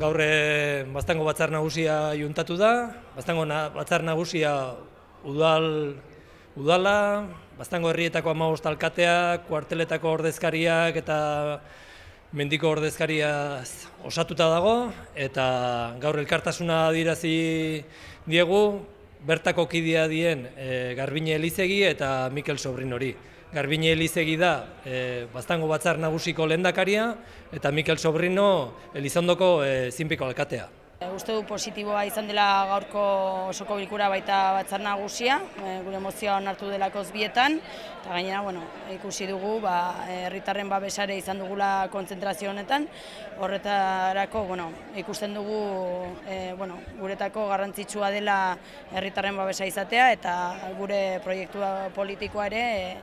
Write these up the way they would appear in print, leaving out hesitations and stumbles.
gaur Baztango batzar nagusia juntatu da. Baztango batzar nagusia udala, Baztango herrietako 15 alkateak, kuarteletako ordezkariak eta mendiko ordezkaria osatuta dago, eta gaur elkartasuna adierazi diegu bertako kidea dien Garbine Elizegi eta Mikel Sobrinori. Garbine Elizegi da Baztango batzar nagusiko lehendakaria eta Mikel Sobrino Elizondoko zinpiko alkatea. Uste du positiboa izan dela gaurko osoko bilkura baita batzar nagusia, gure mozioa onartu delakoz bietan, eta gainera ikusi dugu herritarren babesare izan dugula kontzentrazio honetan, horretarako ikusten dugu guretako garrantzitsua dela herritarren babesa izatea eta gure proiektu politikoa ere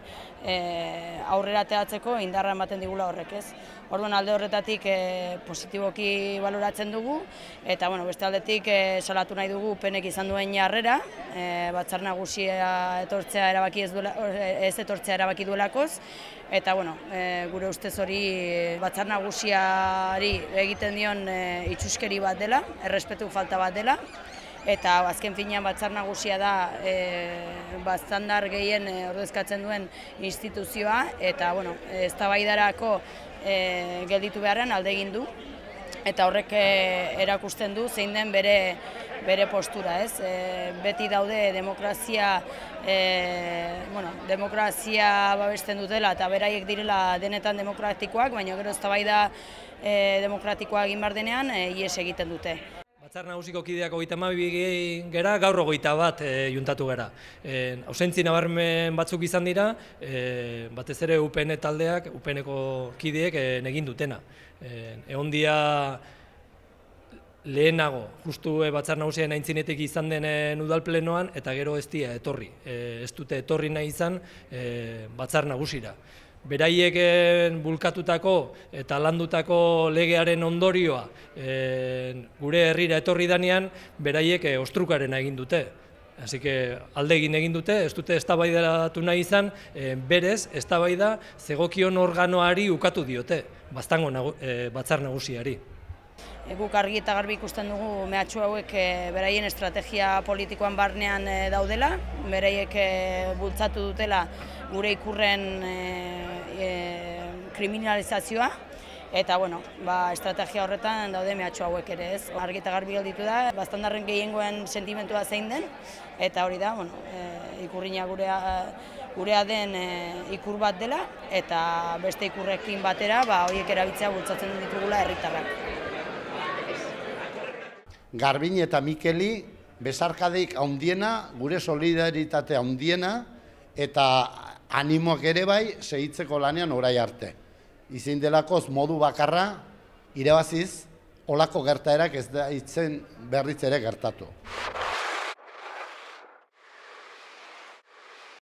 aurrera ateratzeko indarra ematen digula horrek, ez? Orduan alde horretatik positiboki baloratzen dugu eta beste aldetik salatu nahi dugu penek izan duen jarrera, batzar nagusia etortzea ez etortzea erabaki duelakoz eta gure ustez hori batzar nagusiari egiten dion itxuskeri bat dela, errespetu falta bat dela. Eta azken finean batzar nagusia da batzandar gehien ordezkatzen duen instituzioa eta eztabaidarako gelditu beharrean alde egin du eta horrek erakusten du zein den bere postura, ez? Beti daude demokrazia babesten dutela eta beraiek direla denetan demokratikoak, baina gero eztabaida demokratikoa egin behar denean ihes egiten dute. Batzar nagusiko kideak 32 gera, gaur 21 juntatu gara. Ausentzi nabarmen batzuk izan dira, batez ere UPN taldeak, UPNeko kideek egin dutena. Egon dia lehenago, justu batzar nagusien aintzinetik izan den udalplenoan, eta gero ez dira etorri. Ez dute etorri nahi izan batzar nagusira. Beraiek bulkatutako eta landutako legearen ondorioa gure herrira etorri danean, beraiek ostrukarena egin dute. Así que alde egin dute, ez dute eztabaidatu nahi izan, berez eztabaida zegokion organoari ukatu diote, Baztango batzar nagusiari. Guk argi eta garbi ikusten dugu mehatxu hauek beraien estrategia politikoan barnean daudela, beraiek bultzatu dutela gure ikurren kriminalizazioa, eta estrategia horretan daude mehatxu hauek ere, ez? Argi eta garbi gelditu da, baztandarren gehiengoen sentimentua zein den, eta hori da, ikurrina gurea den ikur bat dela, eta beste ikurrekin batera horiek erabiltzea bultzatzen ditugula herritarrak. Garbine eta Mikeli besarkadeik handiena, gure solidaritate handiena eta animoak ere bai segitzeko lanean orai arte. Izin delakoz modu bakarra irabaziz olako gertaerak ez da berriz ere gertatu.